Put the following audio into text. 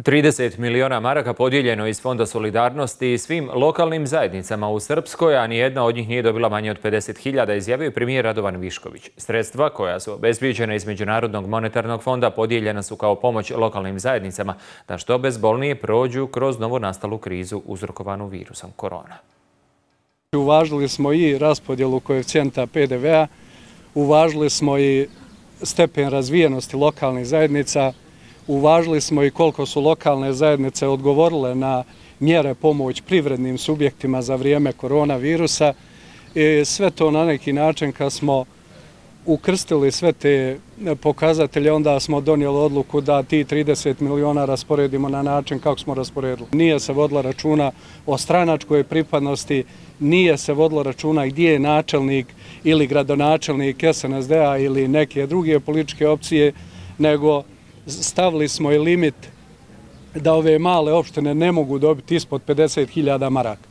30 miliona maraka podijeljeno iz Fonda solidarnosti svim lokalnim zajednicama u Srpskoj, a nijedna od njih nije dobila manje od 50.000, izjavio je premijer Radovan Višković. Sredstva koja su obezbijeđena iz Međunarodnog monetarnog fonda podijeljena su kao pomoć lokalnim zajednicama da što bezbolnije prođu kroz novonastalu krizu uzrokovanu virusom korona. Uvažili smo i raspodjelu koeficijenta PDV-a, uvažili smo i stepen razvijenosti lokalnih zajednica, uvažili smo i koliko su lokalne zajednice odgovorile na mjere pomoć privrednim subjektima za vrijeme koronavirusa. I sve to na neki način kad smo ukrstili sve te pokazatelje, onda smo donijeli odluku da ti 30 miliona rasporedimo na način kako smo rasporedili. Nije se vodilo računa o stranačkoj pripadnosti, nije se vodilo računa gdje je načelnik ili gradonačelnik SNSD-a ili neke druge političke opcije, nego stavili smo i limit da ove male opštine ne mogu dobiti ispod 50.000 maraka.